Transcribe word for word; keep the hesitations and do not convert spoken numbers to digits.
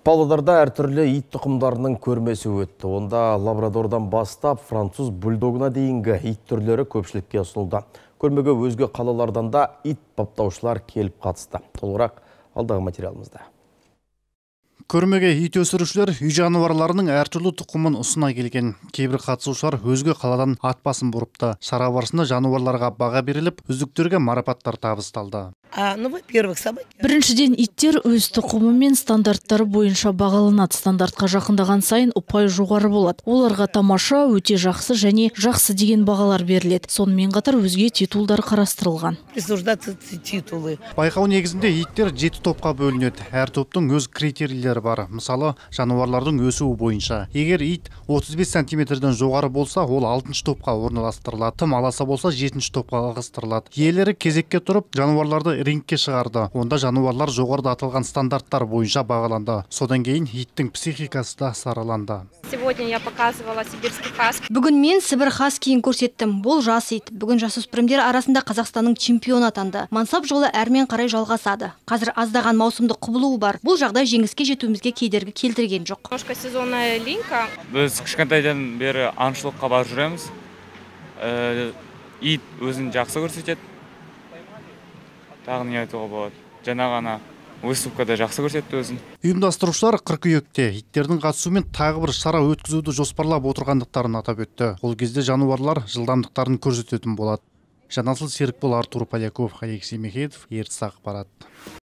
Павлодарда әртүрлі ит тұқымдарының көрмесі өтті. Онда лабрадордан бастап француз бульдогына дейінгі ит түрлері көпшілікке ұсынылды. Көрмеге өзге қалалардан да ит баптаушылар келіп қатысты. Толығырақ алдағы материалымызда. Көрмеге ит өсірушілер үй жануарларының әртүрлі тұқымын ұсына келген. Кейбір қатысушылар өзге қаладан ат басын бұрыпты. Шара барысында жануарларға баға беріліп, үздіктерге марапаттар табысталды. Біріншіден, иттер өз тұқымы мен стандарттары бойынша бағаланады. Стандартқа жақындаған сайын ұпай жоғары болады. Оларға тамаша, өте жақсы және жақсы деген бағалар беріледі. Сонымен қатар өзге титулдар қарастырылған. Байқау негізінде иттер жеті топқа бөлінеді. Әр топтың өз критерийлері бар. Мысалы, жануарлардың өсуі бойынша. Егер ит отыз бес сантиметрден жоғары болса, ол алтыншы топқа орналастырылады. Тым аласа болса, жетінші топқа ығыстырылады. Иелері кезекке тұрып, жануарларды рингке шығарды. Онда жануарлар жоғарыда аталған стандарттар бойынша бағаланды. Содан кейін иттің психикасы да сараланды. Сегодня я показывала сибирский хаски. Бүгін мен Сібір хаскиін көрсеттім. Бұл жас ит. Бүгін жасөспірімдер арасында Қазақстанның чемпионы атанды. Мансап жолы әрмен қарай жалғасады. Қазір аздаған маусымдық құбылуы бар. Бұл жағдай жеңіске жетуімізге кедергі келтірген жоқ. Немножко сезонная линька. Біз кішкентайдан бері аңшылыққа барып жүреміз. Ит өзін жақсы көрсетеді. Тағы не айтуға болады. Жаңа ғана выставкада жақсы көрсетті өзін. Ұйымдастырушылар қыркүйекте иттердің қатысуымен тағы бір шара өткізуді жоспарлап отырғандықтарын атап өтті. Ол кезде жануарлар жылдамдықтарын көрсететін болады. Жанасыл Серікбол, Артур Поляков, Алексей Мехедов, Ертіс ақпарат.